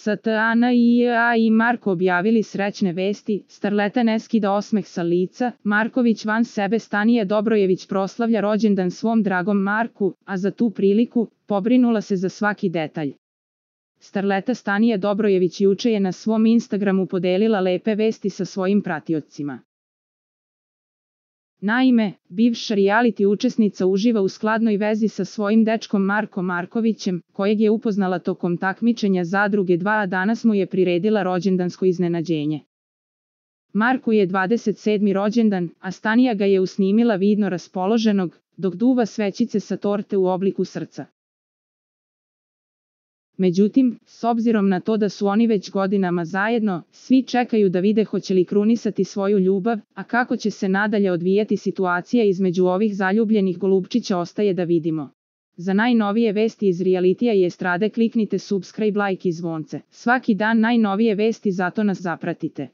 STANIA i Marko objavili srećne vesti, starleta ne skida osmeh sa lica, Marković van sebe. Stanija Dobrojević proslavlja rođendan svom dragom Marku, a za tu priliku pobrinula se za svaki detalj. Starleta Stanija Dobrojević juče je na svom Instagramu podelila lepe vesti sa svojim pratiocima. Naime, bivša reality učesnica uživa u skladnoj vezi sa svojim dečkom Markom Markovićem, kojeg je upoznala tokom takmičenja Zadruge 2, a danas mu je priredila rođendansko iznenađenje. Marku je 27. rođendan, a Stanija ga je usnimila vidno raspoloženog, dok duva svećice sa torte u obliku srca. Međutim, s obzirom na to da su oni već godinama zajedno, svi čekaju da vide hoće li krunisati svoju ljubav, a kako će se nadalje odvijati situacija između ovih zaljubljenih golubčića ostaje da vidimo. Za najnovije vesti iz realitija i estrade kliknite subscribe, like i zvonce. Svaki dan najnovije vesti, zato nas zapratite.